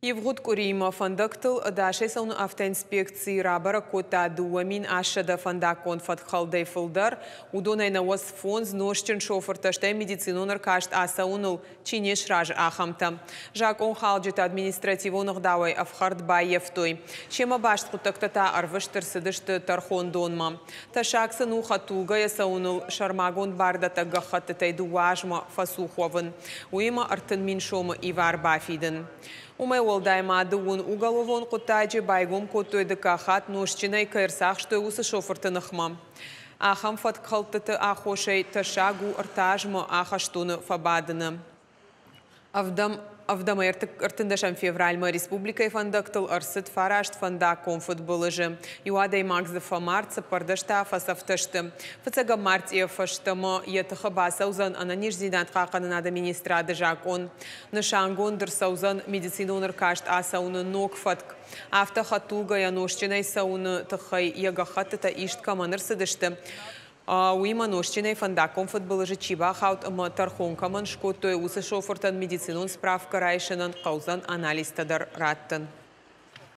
Ивгъуыд къуыриимӕ фӕндӕгтыл ӕдасӕй цӕуыны автоинспекци рабӕрӕг кодта 2800 фӕндаггон фӕткхӕлдӕй фылдӕр. Уыдонӕй 95 нозтджын шофыртӕ, стӕй медицинон ӕркаст ацӕуыныл чи не сразы, ахӕмтӕ. Закъонхалджытӕ административон ӕгъдауӕй ӕфхӕрд баййӕфтой. Семӕ баст хъуыддӕгтӕ та ӕрвыст ӕрцыдысты тӕрхондонмӕ. Тӕссаг сын у хӕдтулгӕйӕ цӕуыныл сӕрмагонд бардӕттӕг гӕххӕттытӕй 2 азмӕ фӕцух уӕвын. Уыимӕ 30 000 сомы ивар бафидын. Уымӕй уӕлдай ма 20 уголовон хъуыддаджы байгом кодтой дыккаг хатт нозтджынӕй кӕй ӕрцахстой, уыцы шофырты ныхмӕ. Ахӕм фӕткхӕлдтыты аххосӕй тӕссаг у 3 азмӕ ахӕстоны фӕбадыны. 7 ӕмӕ 13 февральмӕ республикӕйы фӕндӕгтыл ӕрцыд 9 фӕндаггон фыдбылызы. Иу адӕймаг дзы фӕмард, 14 та фӕцӕфтӕ сты. Фыццӕгӕм мартъийӕ фӕстӕмӕ йӕ тыхы бацӕудзӕн ӕнӕниздзинад хъахъхъӕнынады министрады закъон. Нысангонд ӕрцӕудзӕн медицинон ӕркаст ацӕуыны ног фӕтк. Афтӕ хӕдтулгӕйӕ нозтджынӕй цӕуыны тыххӕй йӕ гӕххӕттытӕ ист кӕмӕн ӕрцыдысты, уыимӕ нозтджынӕй фӕндаггон фыдбылызы чи бахауд ӕмӕ тӕрхон кӕмӕн скодтой, уыцы шофыртӕн медицинон справкӕ райсынӕн хъӕудзӕн анализтӕ дӕр раттын.